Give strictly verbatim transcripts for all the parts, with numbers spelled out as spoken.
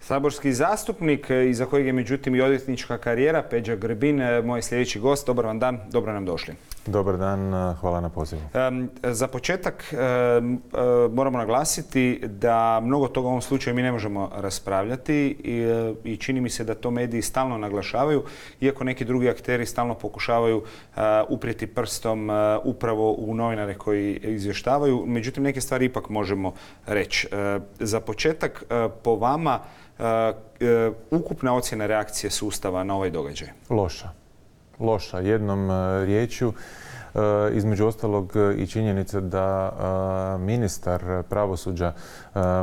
Saborski zastupnik, iza kojeg je međutim i odvjetnička karijera, Peđa Grbin, moj sljedeći gost. Dobar vam dan, dobro nam došli. Dobar dan, hvala na pozivu. Za početak moramo naglasiti da mnogo toga u ovom slučaju mi ne možemo raspravljati i čini mi se da to mediji stalno naglašavaju, iako neki drugi akteri stalno pokušavaju uprijeti prstom upravo u novinare koji izvještavaju. Međutim, neke stvari ipak možemo reći. Za početak, po vama, ukupna ocjena reakcije sustava na ovaj događaj? Loša. Loša. Jednom riječju, između ostalog i činjenica da ministar pravosuđa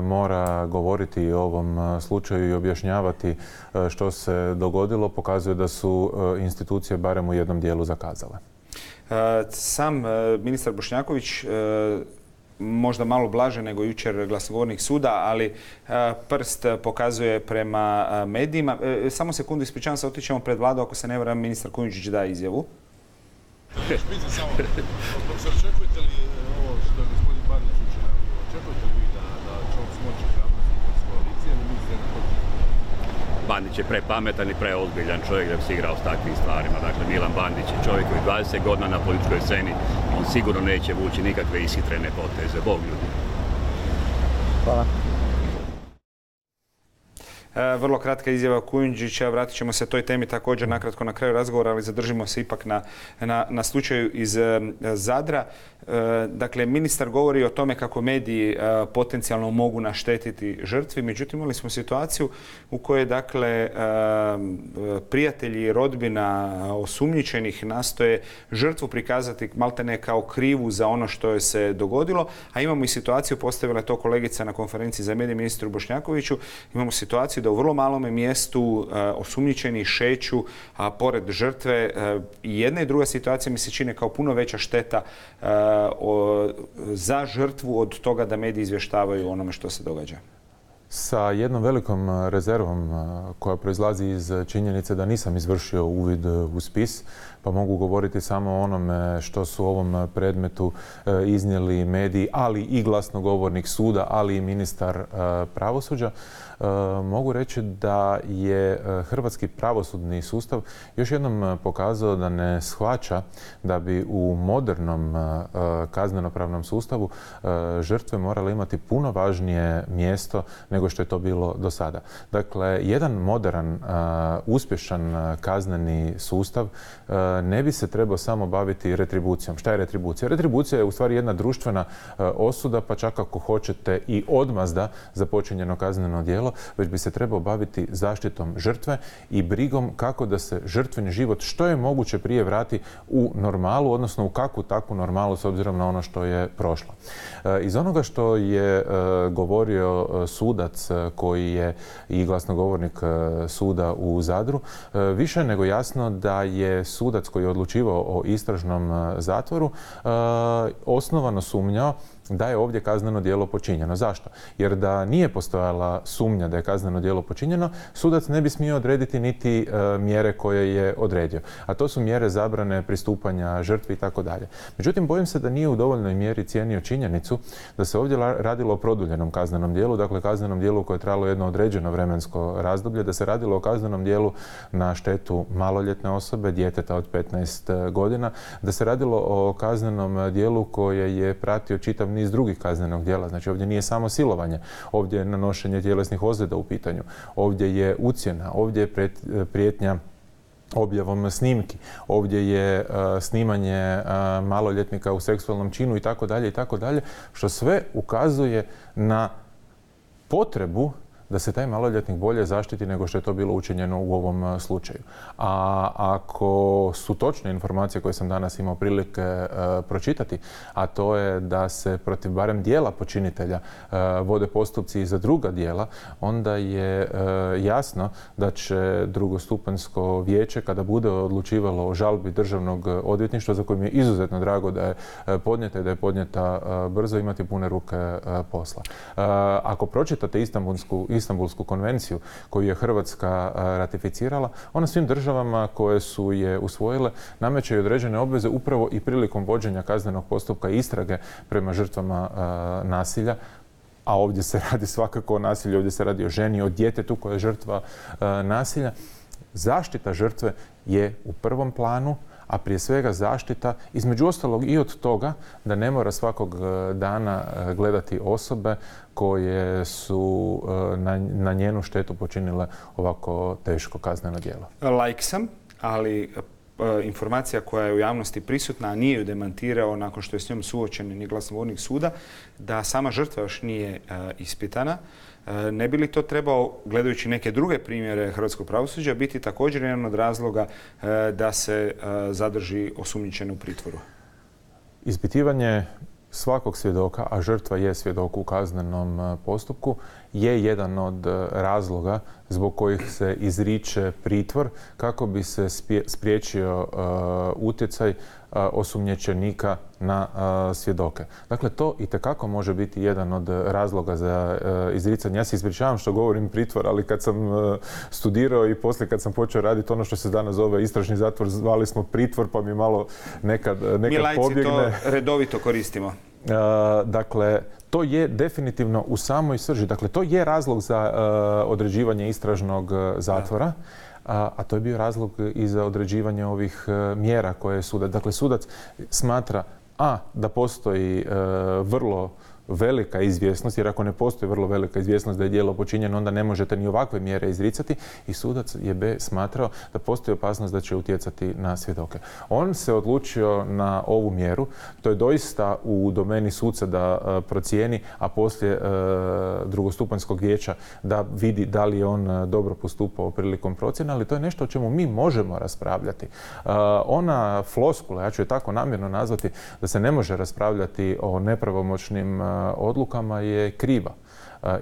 mora govoriti o ovom slučaju i objašnjavati što se dogodilo, pokazuje da su institucije barem u jednom dijelu zakazale. Sam ministar Bošnjaković, možda malo blaže nego jučer glasnogovornik suda, ali prst pokazuje prema medijima. Samo sekundu, ispričavam se, otićemo pred vladu, ako se ne varam, ministar Kujundžić da izjavu. Pitam samo, profesor, očekujete li ovo što je gospodin Bandić jučer najavio? Očekujete li vi da, da će on smoći hrabrosti iz koalicije ili mislite na protiv? Bandić je prepametan i preozbiljan čovjek da bi se igrao s takvim stvarima. Dakle, Milan Bandić je čovjek koji dvadeset godina na političkoj sceni, on sigurno neće vući nikakve ishitrene poteze. Bog ljudi. Hvala. Vrlo kratka izjava Kujundžića, vratit ćemo se toj temi također nakratko na kraju razgovora, ali zadržimo se ipak na, na, na slučaju iz Zadra. Dakle, ministar govori o tome kako mediji potencijalno mogu naštetiti žrtvi, međutim imali smo situaciju u kojoj, dakle, prijatelji i rodbina osumnjičenih nastoje žrtvu prikazati maltene kao krivu za ono što je se dogodilo, a imamo i situaciju, postavila je to kolegica na konferenciji za medije ministru Bošnjakoviću, imamo situaciju da u vrlo malome mjestu osumnjičeni šeću pored žrtve. I jedna i druga situacija mi se čine kao puno veća šteta za žrtvu od toga da mediji izvještavaju o onome što se događa. Sa jednom velikom rezervom koja proizlazi iz činjenice da nisam izvršio uvid u spis, pa mogu govoriti samo o onome što su u ovom predmetu iznijeli mediji, ali i glasnogovornik suda, ali i ministar pravosuđa. Mogu reći da je hrvatski pravosudni sustav još jednom pokazao da ne shvaća da bi u modernom kaznenopravnom sustavu žrtve morale imati puno važnije mjesto nego što je to bilo do sada. Dakle, jedan modern, uspješan kazneni sustav ne bi se trebao samo baviti retribucijom. Šta je retribucija? Retribucija je u stvari jedna društvena osuda, pa čak ako hoćete i odmazda za počinjeno kazneno djelo, već bi se trebao baviti zaštitom žrtve i brigom kako da se žrtveni život što je moguće prije vrati u normalu, odnosno u kakvu takvu normalu s obzirom na ono što je prošlo. Iz onoga što je govorio sudac koji je i glasnogovornik suda u Zadru, više je nego jasno da je sudac koji je odlučivao o istražnom zatvoru osnovano sumnjao da je ovdje kazneno djelo počinjeno. Zašto? Jer da nije postojala sumnja da je kazneno djelo počinjeno, sudac ne bi smio odrediti niti e, mjere koje je odredio. A to su mjere zabrane pristupanja žrtvi i tako dalje. Međutim, bojim se da nije u dovoljnoj mjeri cijenio činjenicu da se ovdje radilo o produljenom kaznenom djelu, dakle kaznenom djelu koje je trajalo jedno određeno vremensko razdoblje, da se radilo o kaznenom djelu na štetu maloljetne osobe, djeteta od petnaest godina, da se radilo o kaznenom djelu koje je pratio čitav niz drugih kaznenog djela. Znači ovdje nije samo silovanje, ovdje je nanošenje tjelesnih ozljeda u pitanju, ovdje je ucjena, ovdje je prijetnja objavom snimki, ovdje je uh, snimanje uh, maloljetnika u seksualnom činu i tako dalje i tako dalje, što sve ukazuje na potrebu da se taj maloljetnik bolje zaštiti nego što je to bilo učinjeno u ovom slučaju. A ako su točne informacije koje sam danas imao prilike e, pročitati, a to je da se protiv barem dijela počinitelja e, vode postupci i za druga dijela, onda je e, jasno da će drugostupanjsko vijeće, kada bude odlučivalo o žalbi Državnog odvjetništva, za kojim je izuzetno drago da je podnijeta i da je podnijeta e, brzo, imati pune ruke e, posla. E, ako pročitate Istanbulsku Istanbulsku konvenciju koju je Hrvatska ratificirala, ona svim državama koje su je usvojile nameće i određene obveze upravo i prilikom vođenja kaznenog postupka i istrage prema žrtvama nasilja, a ovdje se radi svakako o nasilju, ovdje se radi o ženi, o djetetu koja je žrtva nasilja. Zaštita žrtve je u prvom planu, a prije svega zaštita, između ostalog i od toga da ne mora svakog dana gledati osobe koje su na, na njenu štetu počinile ovako teško kazneno djelo. Laik sam, ali informacija koja je u javnosti prisutna, a nije ju demantirao nakon što je s njom suočen ni glasnogovornik suda, da sama žrtva još nije ispitana. Ne bi li to trebao, gledajući neke druge primjere hrvatskog pravosuđa, biti također jedan od razloga da se zadrži osumnjičen u pritvoru? Ispitivanje svakog svjedoka, a žrtva je svjedok u kaznenom postupku, je jedan od razloga zbog kojih se izriče pritvor kako bi se spriječio utjecaj osumnjičenika na svjedoke. Dakle, to itekako može biti jedan od razloga za izricanje. Ja se ispričavam što govorim pritvor, ali kad sam studirao i poslije kad sam počeo raditi ono što se danas zove istražni zatvor, zvali smo pritvor, pa mi malo nekad, nekad mi laici pobjegne. to redovito koristimo. Uh, dakle, to je definitivno u samoj srži. Dakle, to je razlog za uh, određivanje istražnog zatvora, a, a to je bio razlog i za određivanje ovih uh, mjera koje je sudac. Dakle, sudac smatra a da postoji uh, vrlo velika izvjesnost, jer ako ne postoji vrlo velika izvjesnost da je djelo počinjeno, onda ne možete ni ovakve mjere izricati, i sudac je B smatrao da postoji opasnost da će utjecati na svjedoke. On se odlučio na ovu mjeru, to je doista u domeni suca da uh, procijeni, a poslije uh, drugostupanjskog vijeća da vidi da li je on uh, dobro postupao prilikom procjene, ali to je nešto o čemu mi možemo raspravljati. Uh, ona floskula, ja ću je tako namjerno nazvati, da se ne može raspravljati o nepravomoćnim uh, odlukama, je kriva.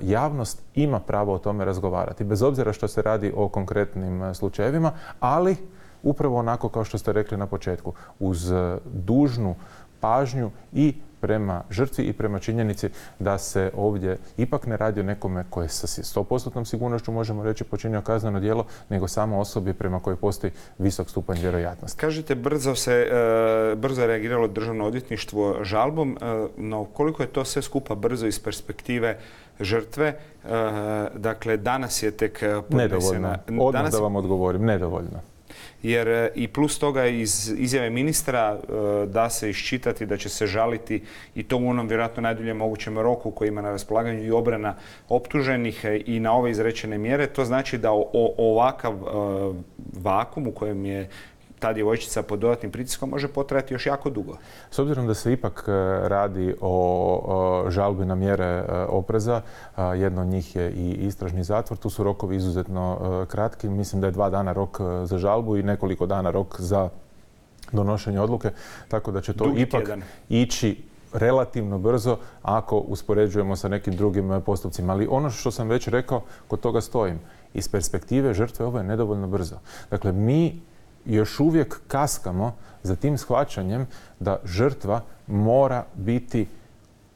Javnost ima pravo o tome razgovarati, bez obzira što se radi o konkretnim slučajevima, ali upravo onako kao što ste rekli na početku, uz dužnu pažnju i prema žrtvi i prema činjenici da se ovdje ipak ne radi o nekome koje sa sto posto sigurnošću možemo reći počinio kazneno djelo, nego samo osobi prema kojoj postoji visok stupanj vjerojatnosti. Kažete, brzo se brzo je reagiralo državno odvjetništvo žalbom, no koliko je to sve skupa brzo iz perspektive žrtve? Dakle, danas je tek podnesena. Nedovoljno. Odmah danas... da vam odgovorim, nedovoljno. Jer i plus toga iz izjave ministra da se iščitati da će se žaliti, i to u onom vjerojatno najduljem mogućem roku koji ima na raspolaganju i obrana optuženih i na ove izrečene mjere. To znači da o, o, ovakav vakum u kojem je ta djevojčica pod dodatnim pritiskom može potrajati još jako dugo. S obzirom da se ipak radi o žalbi na mjere opreza, jedno od njih je i istražni zatvor, tu su rokovi izuzetno kratki. Mislim da je dva dana rok za žalbu i nekoliko dana rok za donošenje odluke, tako da će to Dugi ipak tjedan. ići relativno brzo ako uspoređujemo sa nekim drugim postupcima. Ali ono što sam već rekao, kod toga stojim. Iz perspektive žrtve ovo je nedovoljno brzo. Dakle, mi još uvijek kaskamo za tim shvaćanjem da žrtva mora biti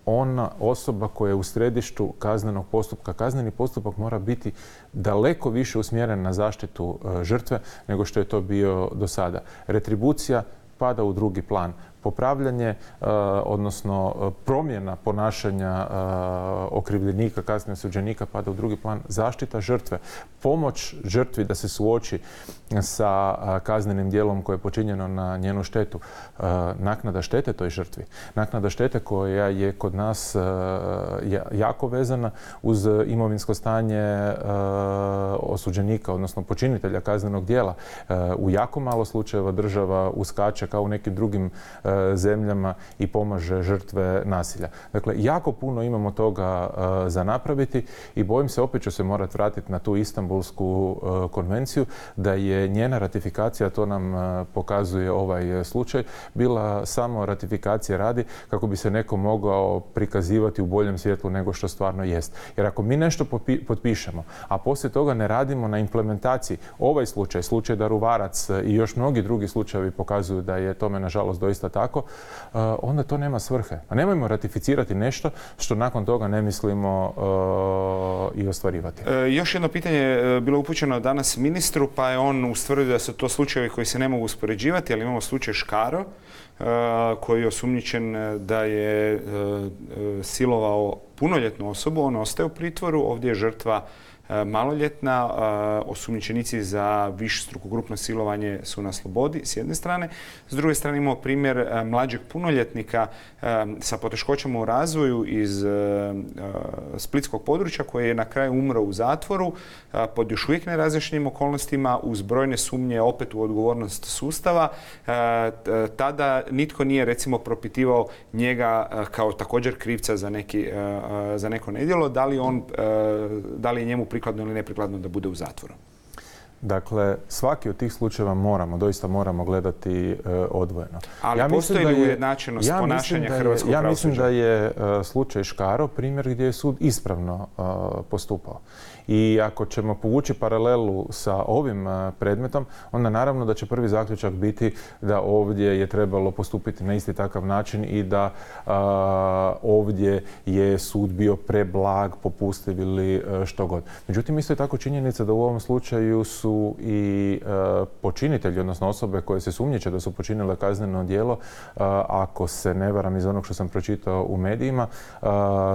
ona osoba koja je u središtu kaznenog postupka. Kazneni postupak mora biti daleko više usmjeren na zaštitu žrtve nego što je to bio do sada. Retribucija pada u drugi plan. Popravljanje, odnosno promjena ponašanja okrivljenika, kasnije osuđenika pada u drugi plan. Zaštita žrtve, pomoć žrtvi da se suoči sa kaznenim djelom koje je počinjeno na njenu štetu. Naknada štete toj žrtvi. Naknada štete koja je kod nas jako vezana uz imovinsko stanje osuđenika, odnosno počinitelja kaznenog djela. U jako malo slučajeva država uskače kao u nekim drugim zemljama i pomaže žrtve nasilja. Dakle, jako puno imamo toga uh, za napraviti i bojim se, opet ću se morati vratiti na tu Istanbulsku uh, konvenciju, da je njena ratifikacija, to nam uh, pokazuje ovaj slučaj, bila samo ratifikacija radi kako bi se neko mogao prikazivati u boljem svjetlu nego što stvarno jest. Jer ako mi nešto potpišemo, a poslije toga ne radimo na implementaciji, ovaj slučaj, slučaj Daruvarac i još mnogi drugi slučajevi pokazuju da da je tome nažalost doista tako, onda to nema svrhe. A nemojmo ratificirati nešto što nakon toga ne mislimo i ostvarivati. E, još jedno pitanje je bilo upućeno danas ministru, pa je on ustvrdio da su to slučajevi koji se ne mogu uspoređivati, ali imamo slučaj Škaro, koji je osumnjičen da je silovao punoljetnu osobu. On ostaje u pritvoru, ovdje je žrtva maloljetna, osumnjičenici za višestruko grupno silovanje su na slobodi s jedne strane. S druge strane imamo primjer mlađeg punoljetnika sa poteškoćama u razvoju iz splitskog područja koji je na kraju umro u zatvoru pod još uvijek nerazjašnjenim okolnostima uz brojne sumnje opet u odgovornost sustava. Tada nitko nije recimo propitivao njega kao također krivca za, neki, za neko nedjelo, da li, on, da li je njemu prikladno ili neprikladno da bude u zatvoru. Dakle, svaki od tih slučajeva moramo, doista moramo gledati e, odvojeno. Ali ja postoji li ujednačenost ja ponašanja je, hrvatskog ja pravosuđa? mislim da je e, slučaj Škaro primjer gdje je sud ispravno e, postupao. I ako ćemo povući paralelu sa ovim e, predmetom, onda naravno da će prvi zaključak biti da ovdje je trebalo postupiti na isti takav način i da e, ovdje je sud bio preblag, popustiv ili e, što god. Međutim, isto je tako činjenica da u ovom slučaju su i e, počinitelji, odnosno osobe koje se sumnjiče da su počinile kazneno djelo, e, ako se ne varam iz onog što sam pročitao u medijima, e,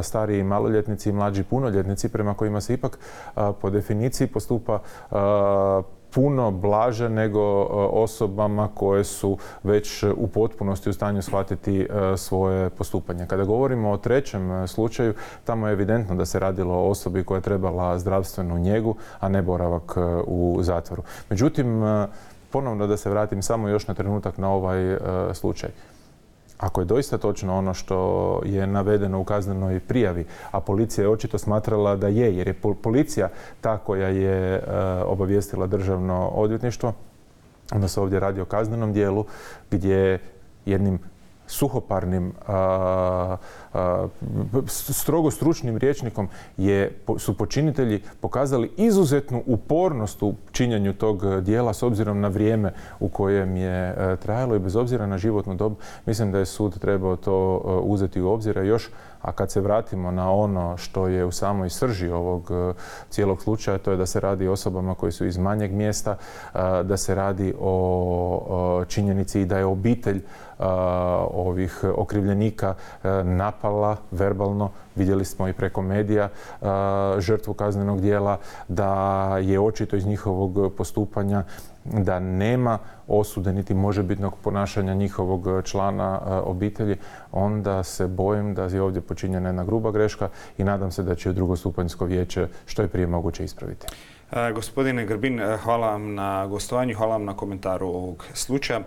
stariji maloljetnici i mlađi punoljetnici prema kojima se ipak e, po definiciji postupa e, puno blaže nego osobama koje su već u potpunosti u stanju shvatiti svoje postupanje. Kada govorimo o trećem slučaju, tamo je evidentno da se radilo o osobi koja je trebala zdravstvenu njegu, a ne boravak u zatvoru. Međutim, ponovno da se vratim samo još na trenutak na ovaj slučaj. Ako je doista točno ono što je navedeno u kaznenoj prijavi, a policija je očito smatrala da je, jer je policija ta koja je obavijestila državno odvjetništvo, onda se ovdje radi o kaznenom dijelu gdje jednim suhoparnim, a, a, strogo stručnim rječnikom je, su počinitelji pokazali izuzetnu upornost u činjenju tog dijela s obzirom na vrijeme u kojem je a, trajalo i bez obzira na životnu dob. Mislim da je sud trebao to a, uzeti u obzir. Još, a kad se vratimo na ono što je u samoj srži ovog a, cijelog slučaja, to je da se radi o osobama koji su iz manjeg mjesta, a, da se radi o a, činjenici i da je obitelj a, ovih okrivljenika napala verbalno, vidjeli smo i preko medija, žrtvu kaznenog djela, da je očito iz njihovog postupanja da nema osude niti možebitnog ponašanja njihovog člana obitelji, onda se bojim da je ovdje počinjena jedna gruba greška i nadam se da će drugostupanjsko vijeće što je prije moguće ispraviti. Gospodine Grbin, hvala vam na gostovanju, hvala vam na komentaru ovog slučaja.